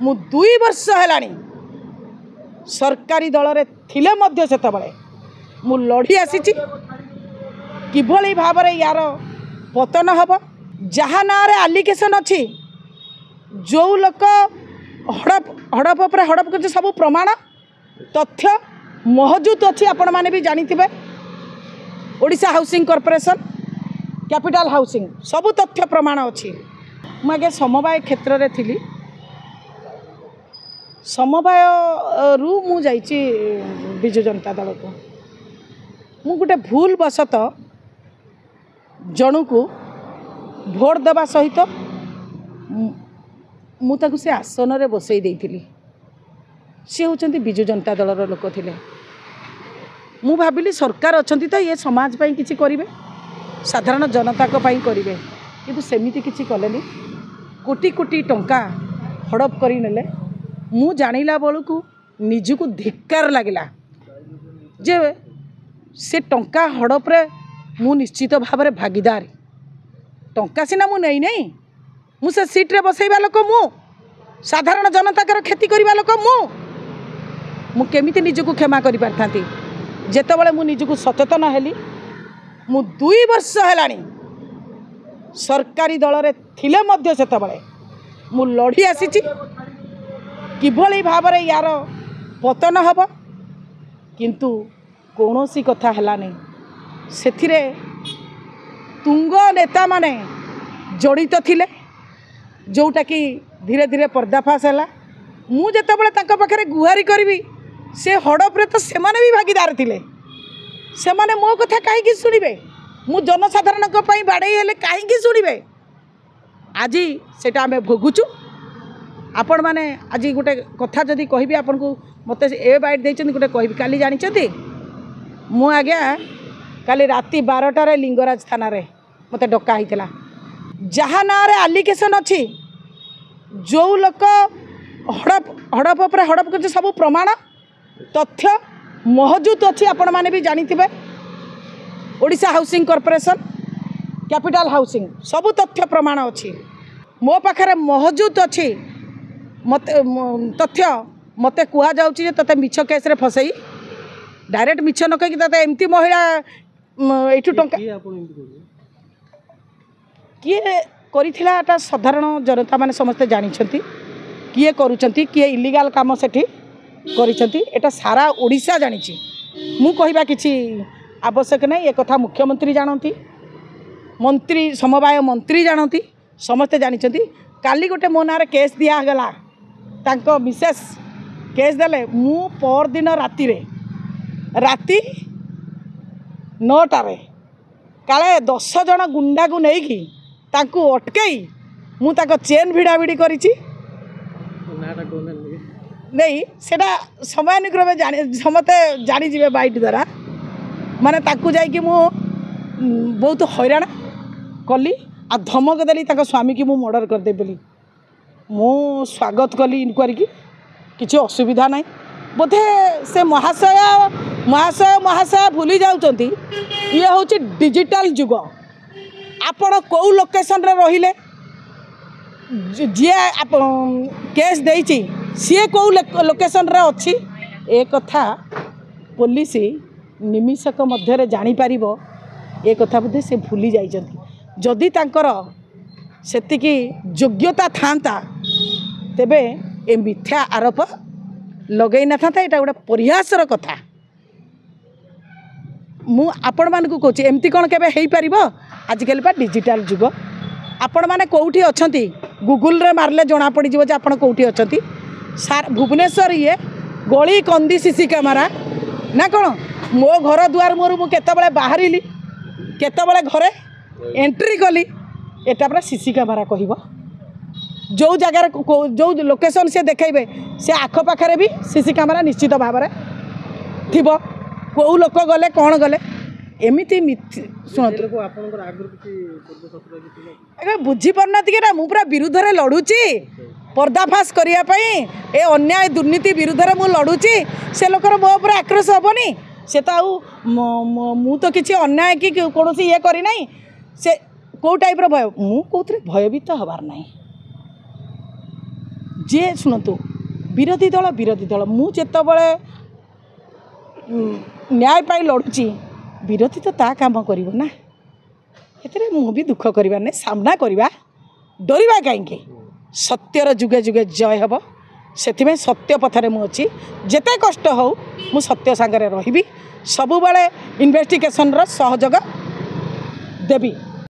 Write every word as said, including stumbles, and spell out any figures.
ମୁଁ ଦୁଇ ବର୍ଷ ହେଲାଣି ସରକାରୀ ଦଳରେ ଥିଲେ ମଧ୍ୟ ସେତେବେଳେ ମୁଁ ଲଢ଼ି ଆସିଛି କିଭଳି ଭାବରେ ୟାର ପତନ ହେବ। ଯାହା ନାଁରେ ଆଲିଗେସନ୍ ଅଛି, ଯେଉଁ ଲୋକ ହଡ଼ପ ହଡ଼ପ ଉପରେ ହଡ଼ପ କରୁଛି, ସବୁ ପ୍ରମାଣ ତଥ୍ୟ ମହଜୁଦ ଅଛି। ଆପଣମାନେ ବି ଜାଣିଥିବେ, Odisha housing corporation, capital housing, ସବୁ ତଥ୍ୟ ପ୍ରମାଣ ଅଛି। ମୁଁ ଆଜ୍ଞା ସମବାୟ କ୍ଷେତ୍ରରେ ଥିଲି, ସମବାୟରୁ ମୁଁ ଯାଇଛି ବିଜୁ ଜନତା ଦଳକୁ। ମୁଁ ଗୋଟେ ଭୁଲ ବଶତଃ ଜଣକୁ ଭୋଟ ଦେବା ସହିତ ମୁଁ ତାକୁ ସେ ଆସନରେ ବସେଇ ଦେଇଥିଲି। ସିଏ ହେଉଛନ୍ତି ବିଜୁ ଜନତା ଦଳର ଲୋକ ଥିଲେ। ମୁଁ ଭାବିଲି ସରକାର ଅଛନ୍ତି ତ ଇଏ ସମାଜ ପାଇଁ କିଛି କରିବେ, ସାଧାରଣ ଜନତାଙ୍କ ପାଇଁ କରିବେ, କିନ୍ତୁ ସେମିତି କିଛି କଲେନି। କୋଟି କୋଟି ଟଙ୍କା ହଡ଼ପ କରିନେଲେ। ମୁଁ ଜାଣିଲା ବେଳକୁ ନିଜକୁ ଧିକ୍କାର ଲାଗିଲା ଯେ ସେ ଟଙ୍କା ହଡ଼ପରେ ମୁଁ ନିଶ୍ଚିତ ଭାବରେ ଭାଗିଦାର। ଟଙ୍କା ସିନା ମୁଁ ନେଇନାହିଁ, ମୁଁ ସେ ସିଟ୍ରେ ବସେଇବା ଲୋକ, ମୁଁ ସାଧାରଣ ଜନତାଙ୍କର କ୍ଷତି କରିବା ଲୋକ, ମୁଁ ମୁଁ କେମିତି ନିଜକୁ କ୍ଷମା କରିପାରିଥାନ୍ତି? ଯେତେବେଳେ ମୁଁ ନିଜକୁ ସଚେତନ ହେଲି, ମୁଁ ଦୁଇ ବର୍ଷ ହେଲାଣି ସରକାରୀ ଦଳରେ ଥିଲେ ମଧ୍ୟ ସେତେବେଳେ ମୁଁ ଲଢ଼ି ଆସିଛି କିଭଳି ଭାବରେ ୟାର ପତନ ହେବ, କିନ୍ତୁ କୌଣସି କଥା ହେଲାନି। ସେଥିରେ ତୁଙ୍ଗ ନେତାମାନେ ଜଡ଼ିତ ଥିଲେ, ଯେଉଁଟାକି ଧୀରେ ଧୀରେ ପର୍ଦ୍ଦାଫାଶ ହେଲା। ମୁଁ ଯେତେବେଳେ ତାଙ୍କ ପାଖରେ ଗୁହାରି କରିବି, ସେ ହଡ଼ପରେ ତ ସେମାନେ ବି ଭାଗିଦାର ଥିଲେ, ସେମାନେ ମୋ କଥା କାହିଁକି ଶୁଣିବେ? ମୁଁ ଜନସାଧାରଣଙ୍କ ପାଇଁ ବାଡ଼େଇ ହେଲେ କାହିଁକି ଶୁଣିବେ? ଆଜି ସେଇଟା ଆମେ ଭୋଗୁଛୁ। ଆପଣମାନେ ଆଜି ଗୋଟେ କଥା ଯଦି କହିବି ଆପଣଙ୍କୁ, ମୋତେ ଏ ବାଇଟ୍ ଦେଇଛନ୍ତି, ଗୋଟେ କହିବି। କାଲି ଜାଣିଛନ୍ତି, ମୁଁ ଆଜ୍ଞା କାଲି ରାତି ବାରଟାରେ ଲିଙ୍ଗରାଜ ଥାନାରେ ମୋତେ ଡକା ହେଇଥିଲା। ଯାହା ନାଁରେ ଆଲିଗେସନ୍ ଅଛି, ଯେଉଁ ଲୋକ ହଡ଼ପ ହଡ଼ପ ଉପରେ ହଡ଼ପ କରୁଛି, ସବୁ ପ୍ରମାଣ ତଥ୍ୟ ମହଜୁଦ ଅଛି। ଆପଣମାନେ ବି ଜାଣିଥିବେ, Odisha housing corporation, capital housing, ସବୁ ତଥ୍ୟ ପ୍ରମାଣ ଅଛି। ମୋ ପାଖରେ ମହଜୁଦ ଅଛି ମୋତେ ତଥ୍ୟ। ମୋତେ କୁହାଯାଉଛି ଯେ ତୋତେ ମିଛ କେସ୍ରେ ଫସେଇ, ଡାଇରେକ୍ଟ ମିଛ ନ କହିକି ତୋତେ ଏମିତି ମହିଳା ଏଇଠୁ ଟଙ୍କା କିଏ କରିଥିଲା, ଏଟା ସାଧାରଣ ଜନତା ମାନେ ସମସ୍ତେ ଜାଣିଛନ୍ତି କିଏ କରୁଛନ୍ତି, କିଏ ଇଲିଗାଲ କାମ ସେଠି କରିଛନ୍ତି। ଏଟା ସାରା ଓଡ଼ିଶା ଜାଣିଛି, ମୁଁ କହିବା କିଛି ଆବଶ୍ୟକ ନାହିଁ। ଏକଥା ମୁଖ୍ୟମନ୍ତ୍ରୀ ଜାଣନ୍ତି, ମନ୍ତ୍ରୀ, ସମବାୟ ମନ୍ତ୍ରୀ ଜାଣନ୍ତି, ସମସ୍ତେ ଜାଣିଛନ୍ତି। କାଲି ଗୋଟେ ମୋ ନାଁରେ କେସ୍ ଦିଆଗଲା, ତାଙ୍କ ମିସେସ୍ କେସ୍ ଦେଲେ। ମୁଁ ପରଦିନ ରାତିରେ ରାତି ନଅଟାରେ କାଳେ ଦଶ ଜଣ ଗୁଣ୍ଡାକୁ ନେଇକି ତାଙ୍କୁ ଅଟକେଇ ମୁଁ ତାଙ୍କ ଚେନ୍ ଭିଡ଼ାଭିଡ଼ି କରିଛି ନେଇ। ସେଇଟା ସମୟାନୁକ୍ରମେ ଜାଣି ସମସ୍ତେ ଜାଣିଯିବେ ବାଇଟ୍ ଦ୍ୱାରା। ମାନେ ତାକୁ ଯାଇକି ମୁଁ ବହୁତ ହଇରାଣ କଲି ଆଉ ଧମକ ଦେଲି ତାଙ୍କ ସ୍ୱାମୀକି ମୁଁ ମର୍ଡ଼ର କରିଦେବି ବୋଲି। ମୁଁ ସ୍ୱାଗତ କଲି ଇନକ୍ୱାରିକି, କିଛି ଅସୁବିଧା ନାହିଁ। ବୋଧେ ସେ ମହାଶୟ ମହାଶୟ ମହାଶୟ ଭୁଲି ଯାଉଛନ୍ତି, ଇଏ ହେଉଛି ଡିଜିଟାଲ ଯୁଗ। ଆପଣ କେଉଁ ଲୋକେସନରେ ରହିଲେ, ଯିଏ କେସ୍ ଦେଇଛି ସିଏ କେଉଁ ଲୋକେସନରେ ଅଛି, ଏ କଥା ପୋଲିସ ନିମିଷକ ମଧ୍ୟରେ ଜାଣିପାରିବ। ଏ କଥା ବୋଧେ ସେ ଭୁଲି ଯାଇଛନ୍ତି। ଯଦି ତାଙ୍କର ସେତିକି ଯୋଗ୍ୟତା ଥାନ୍ତା, ତେବେ ଏ ମିଥ୍ୟା ଆରୋପ ଲଗେଇ ନଥାନ୍ତା। ଏଇଟା ଗୋଟେ ପରିହାସର କଥା। ମୁଁ ଆପଣମାନଙ୍କୁ କହୁଛି, ଏମିତି କ'ଣ କେବେ ହେଇପାରିବ? ଆଜିକାଲି ପା ଡିଜିଟାଲ ଯୁଗ। ଆପଣମାନେ କେଉଁଠି ଅଛନ୍ତି ଗୁଗୁଲରେ ମାରିଲେ ଜଣାପଡ଼ିଯିବ ଯେ ଆପଣ କେଉଁଠି ଅଛନ୍ତି। ସାର୍, ଭୁବନେଶ୍ୱର ଇଏ ଗଳି କନ୍ଦି ସି ସି କ୍ୟାମେରା ନା କ'ଣ? ମୋ ଘର ଦୁଆର ମୁହଁରୁ ମୁଁ କେତେବେଳେ ବାହାରିଲି, କେତେବେଳେ ଘରେ ଏଣ୍ଟ୍ରି କଲି, ଏଟା ପୁରା ସି ସି କ୍ୟାମେରା କହିବ। ଯେଉଁ ଜାଗାରେ ଯେଉଁ ଲୋକେସନ୍ ସେ ଦେଖେଇବେ, ସେ ଆଖପାଖରେ ବି ସି ସି କ୍ୟାମେରା ନିଶ୍ଚିତ ଭାବରେ ଥିବ, କେଉଁ ଲୋକ ଗଲେ କ'ଣ ଗଲେ। ଏମିତି ଶୁଣନ୍ତୁ ଆଜ୍ଞା, ବୁଝିପାରୁନାହାନ୍ତି କି ନା? ମୁଁ ପୁରା ବିରୁଦ୍ଧରେ ଲଢ଼ୁଛି ପର୍ଦ୍ଦାଫାଶ କରିବା ପାଇଁ। ଏ ଅନ୍ୟାୟ ଦୁର୍ନୀତି ବିରୁଦ୍ଧରେ ମୁଁ ଲଢ଼ୁଛି। ସେ ଲୋକର ମୋ ଉପରେ ଆକ୍ରୋଶ ହେବନି? ସେ ତ ଆଉ ମୁଁ ତ କିଛି ଅନ୍ୟାୟ କି କୌଣସି ଇଏ କରିନାହିଁ, ସେ କେଉଁ ଟାଇପ୍ର ଭୟ? ମୁଁ କେଉଁଥିରେ ଭୟଭୀତ ହେବାର ନାହିଁ। ଯିଏ ଶୁଣନ୍ତୁ, ବିରୋଧୀ ଦଳ ବିରୋଧୀ ଦଳ, ମୁଁ ଯେତେବେଳେ ନ୍ୟାୟ ପାଇଁ ଲଢ଼ୁଛି, ବିରୋଧୀ ତ ତା କାମ କରିବ ନା। ଏଥିରେ ମୁଁ ବି ଦୁଃଖ କରିବା ନାହିଁ, ସାମ୍ନା କରିବା, ଡରିବା କାହିଁକି? ସତ୍ୟର ଯୁଗେ ଯୁଗେ ଜୟ ହେବ। ସେଥିପାଇଁ ସତ୍ୟ ପଥରେ ମୁଁ ଅଛି। ଯେତେ କଷ୍ଟ ହେଉ ମୁଁ ସତ୍ୟ ସାଙ୍ଗରେ ରହିବି, ସବୁବେଳେ ଇନଭେଷ୍ଟିଗେସନର ସହଯୋଗ ଦେବି।